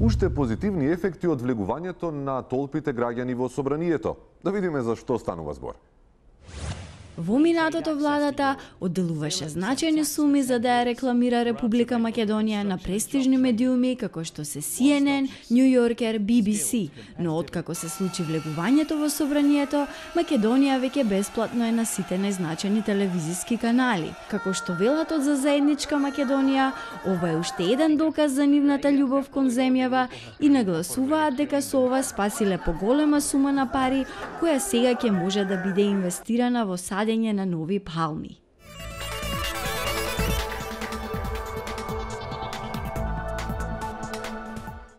уште позитивни ефекти од влегувањето на толпите граѓани во собранието. Да видиме за што станува збор. Во минатото владата одделуваше значајни суми за да ја рекламира Република Македонија на престижни медиуми како што се CNN, New Yorker, BBC, но откако се случи влегувањето во собранието, Македонија веќе бесплатно е на сите најзначајни телевизиски канали. Како што велат од За заедничка Македонија, ова е уште еден доказ за нивната љубов кон земјава и нагласуваат дека со ова спасиле поголема сума на пари која сега ќе може да биде инвестирана во садење на нови палми.